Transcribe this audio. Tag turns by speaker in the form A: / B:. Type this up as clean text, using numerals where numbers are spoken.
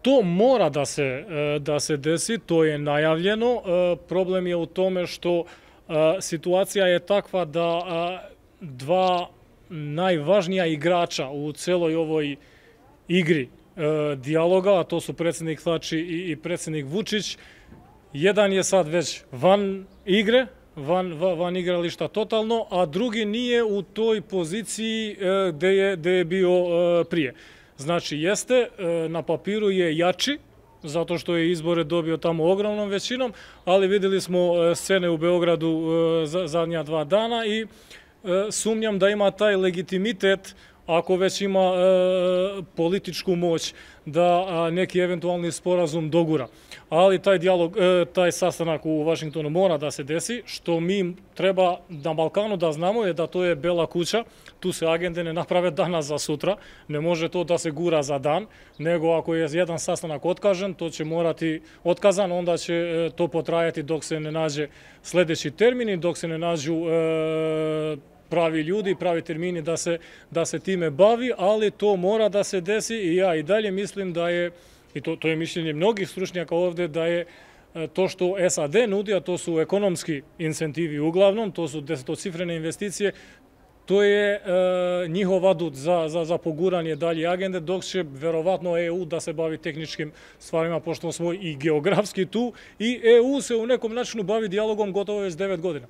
A: To mora da se desi, to je najavljeno. Problem je u tome što situacija je takva da dva najvažnija igrača u celoj ovoj igri dijaloga, a to su predsjednik Tači i predsjednik Vučić, jedan je sad već van igre, van igrališta totalno, a drugi nije u toj poziciji gde je bio prije. Znači, jeste, na papiru je jači, zato što je izbore dobio tamo ogromnom većinom, ali vidjeli smo scene u Beogradu zadnja 2 dana i sumnjam da ima taj legitimitet, ako već ima političku moć, da neki eventualni sporazum dogura. Ali taj dijalog, taj sastanak u Vašingtonu mora da se desi. Što mi treba na Balkanu da znamo je da to je bela kuća, tu se agende ne naprave danas za sutra, ne može to da se gura za dan, nego ako je jedan sastanak otkažen, to će morati otkazan, onda će to potrajati dok se ne nađe sljedeći termin i dok se ne nađu pravi ljudi, pravi termini da se time bavi, ali to mora da se desi i ja i dalje mislim da je, i to je mišljenje mnogih stručnjaka ovdje, da je to što SAD nudi, a to su ekonomski incentivi uglavnom, to su desetocifrene investicije, to je njihov adut za poguranje dalje agende, dok će verovatno EU da se bavi tehničkim stvarima, pošto smo i geografski tu, i EU se u nekom načinu bavi dijalogom gotovo već 9 godina.